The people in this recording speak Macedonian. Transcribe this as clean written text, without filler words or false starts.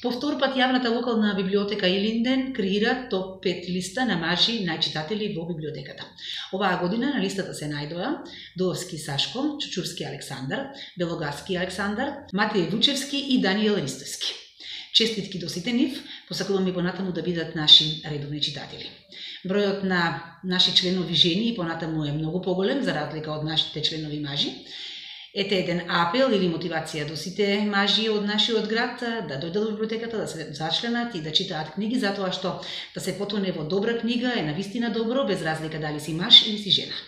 По втор пат јавната локална библиотека Илинден креира топ 5 листа на мажи најчитатели во библиотеката. Оваа година на листата се најдоа Доовски Сашко, Чучурски Александар, Белогаски Александар, Матеј Вучевски и Даниел Ристовски. Честитки до сите нив, посакуваме понатаму да бидат наши редовни читатели. Бројот на наши членови жени и понатаму е многу поголем, за разлика од нашите членови мажи. Ете еден апел или мотивација до сите мажи од нашиот град да дојдат во библиотеката, да се зачленат и да читаат книги, затоа што да се потоне во добра книга е навистина добро, без разлика дали си маж или си жена.